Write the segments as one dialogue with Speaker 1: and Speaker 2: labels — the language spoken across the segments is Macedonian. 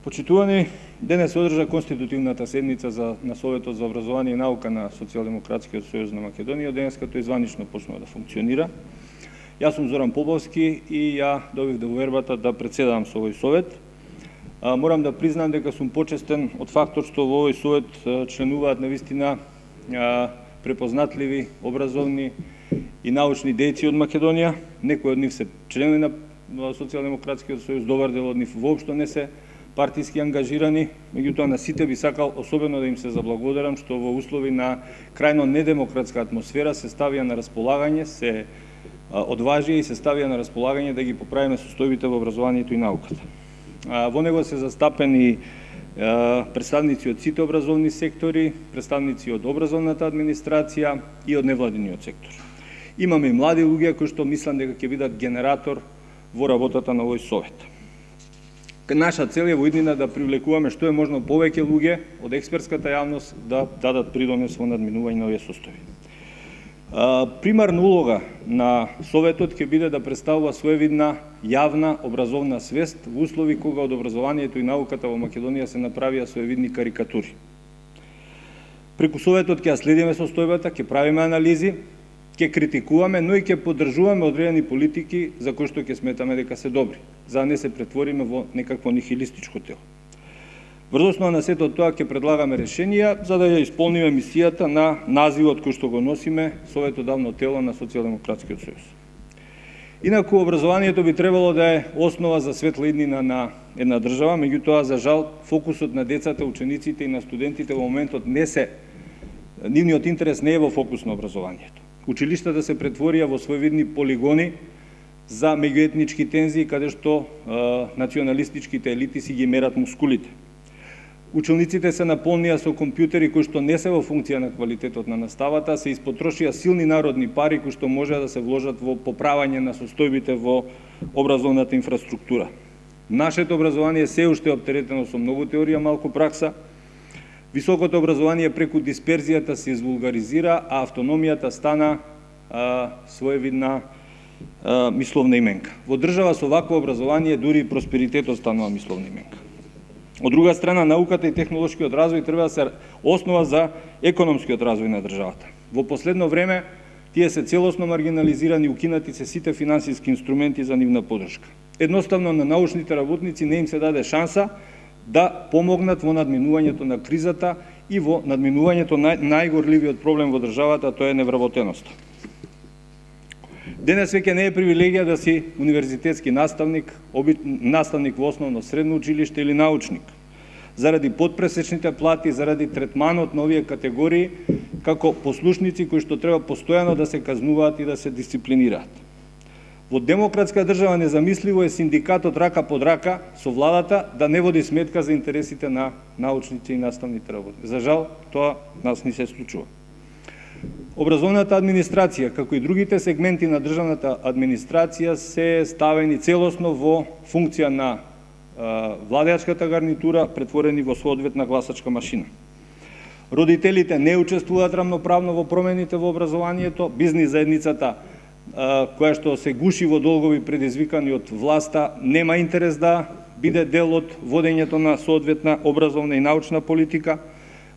Speaker 1: Почитувани, денес се одржа конститутивната седница на Советот за образование и наука на Социјалдемократскиот сојуз на Македонија, денес като изванично почнува да функционира. Јас сум Зоран Побовски и ја добив довербата да председавам со овој совет. Морам да признам дека сум почестен од фактот што во овој совет членуваат навистина препознатливи, образовни и научни дејци од Македонија. Некои од нив се членови на Социјалдемократскиот сојуз, добар дел од нив воопшто не се партиски ангажирани, меѓутоа на сите би сакал особено да им се заблагодарам што во услови на крајно недемократска атмосфера се ставија на располагање, се одважија и се ставија на располагање да ги поправиме состојбите во образованието и науката. Во него се застапени представници од сите образовни сектори, представници од образовната администрација и од невладиниот сектор. Имаме и млади луѓе кои што мислам дека ќе бидат генератор во работата на овој совет. Наша цел е во иднина да привлекуваме што е можно повеќе луѓе од експертската јавност да дадат придонес во надминување на овие состојби. Примарна улога на Советот ќе биде да представува своевидна јавна образовна свест во услови кога од образованието и науката во Македонија се направија своевидни карикатури. Преку Советот ќе ја следиме состојбата, ќе правиме анализи, ќе критикуваме, но и ќе поддржуваме одредени политики за кои што ќе сметаме дека се добри, за да не се претвориме во некакво нихилистичко тело. Врз основа на сето тоа ќе предлагаме решенија за да ја исполниме мисијата на називот кој што го носиме, Советодавно тело на Социјалдемократскиот сојуз. Инаку образованието би требало да е основа за светла иднина на една држава, меѓутоа за жал фокусот на децата, учениците и на студентите во моментот нивниот интерес не е во фокус на образованието. Училиштата се претворија во своевидни полигони за меѓуетнички тензии, каде што националистичките елити си ги мерат мускулите. Учениците се наполнија со компјутери кои што не се во функција на квалитетот на наставата, се испотрошија силни народни пари кои што може да се вложат во поправање на состојбите во образовната инфраструктура. Нашето образование се уште оптеретено со многу теорија, малку пракса. Високото образование преку дисперзијата се извулгаризира, а автономијата стана своевидна мисловна именка. Во држава со вакво образование дури и просперитетот станува мисловна именка. Од друга страна, науката и технолошкиот развој треба да се основа за економскиот развој на државата. Во последно време тие се целосно маргинализирани, укинати се сите финансиски инструменти за нивна поддршка. Едноставно на научните работници не им се даде шанса да помогнат во надминувањето на кризата и во надминувањето на најгорливиот проблем во државата, тоа е невработеноста. Денес веќе не е привилегија да си универзитетски наставник, наставник во основно средно училиште или научник. Заради подпресечните плати, заради третманот на овие категории, како послушници кои што треба постојано да се казнуваат и да се дисциплинираат. Во демократска држава незамисливо е синдикатот рака под рака со владата да не води сметка за интересите на научници и наставните работници. За жал, тоа нас не се случува. Образовната администрација, како и другите сегменти на државната администрација, се ставени целосно во функција на владеачката гарнитура, претворени во соодветна гласачка машина. Родителите не учествуваат рамноправно во промените во образованието, бизнис заедницата која што се гуши во долгови предизвикани од власта, нема интерес да биде дел од водењето на соодветна образовна и научна политика.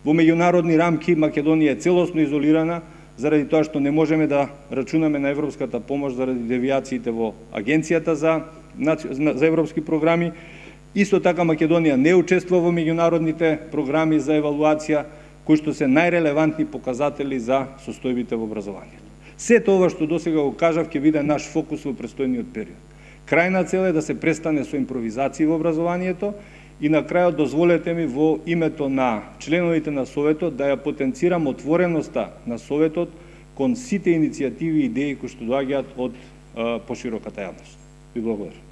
Speaker 1: Во меѓународни рамки Македонија е целосно изолирана, заради тоа што не можеме да рачунаме на европската помош заради девијациите во Агенцијата за европски програми. Исто така Македонија не учествува во меѓународните програми за евалуација, кои што се најрелевантни показатели за состојбите во образованието. Сето ова што досега го кажав ќе биде наш фокус во престојниот период. Крајна цел е да се престане со импровизации во образованието и на крајот дозволете ми во името на членовите на Советот да ја потенцирам отвореноста на Советот кон сите иницијативи и идеи кои што доаѓаат од пошироката јавност. Ви благодарам.